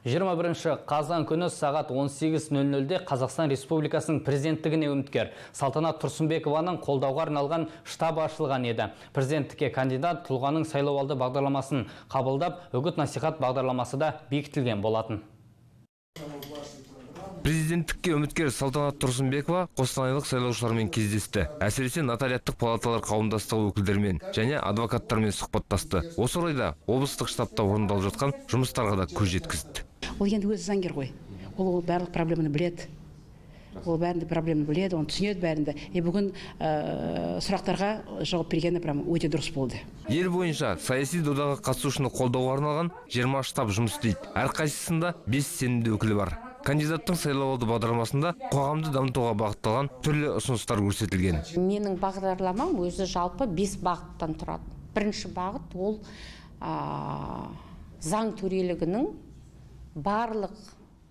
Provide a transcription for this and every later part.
21 қазан күні сағат 18:00-де Қазақстан Республикасының президенттігіне үміткер Салтанат Тұрсынбекованың қолдауға арналған штаб ашылған еді. Президенттікке кандидат тұлғаның сайлауалды бағдарламасын қабылдап, үгіт-насихат бағдарламасы да бекітілген болатын. Президенттікке үміткер Салтанат Тұрсынбекова қостанайлық сайлаушылармен кездесті. Әсіресе нотариаттық палаталар қауымдастығы өкілдерімен және адвокаттармен сұхбаттасты. Осы орайда облыстық штабта орындалып жатқан жұмыстарға да көз жеткізді. Ол енді өзі заңгер ғой. Ол барлық проблеманы біледі. Ол бәрінде проблеманы біледі, оны түсінеді бәрінде. Бүгін сұрақтарға жауап бергені өте дұрыс болды. Ел бойынша саяси додаға қатысушыны қолдауға арналған 20 штаб жұмыс істейді. Әрқайсысында 5 сенімді өкілі бар. Кандидаттың сайлауалды бағдарламасында қоғамды дамытуға бағытталған түрлі ұсыныстар көрсетілген. Менің бағдарламам өзі жалпы 5 бағыттан тұрады. Бірінші бағыт ол заң төрелігінің барлық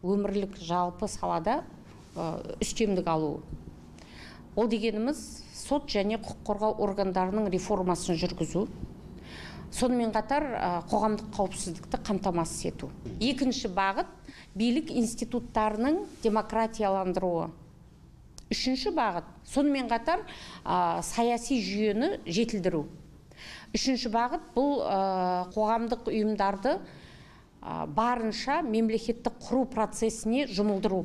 өмірлік жалпы салада үстемдік алу. Ол дегеніміз сот және құқық қорғау органдарының реформасын жүргізу. Сонымен қатар қоғамдық қауіпсіздікті қамтамасыз ету. Екінші бағыт билік институттарының демократияландыруы. Үшінші бағыт сонымен қатар саяси жүйені жетілдіру. Үшінші бағыт бұл қоғамдық ұйымдарды барынша мемлекеттік құру процесіне жұмылдыру.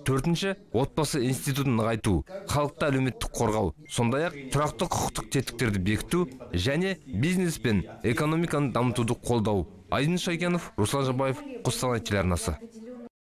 Төртінші, отбасы институтын нығайту, халықты әлеуметтік қорғау, сондай-ақ тұрақты құқықтық тетіктерді бекіту және бизнес пен экономиканы дамытуды қолдау. Айдын Шайкенов, Руслан Жабаев, Қостанай телеарнасы.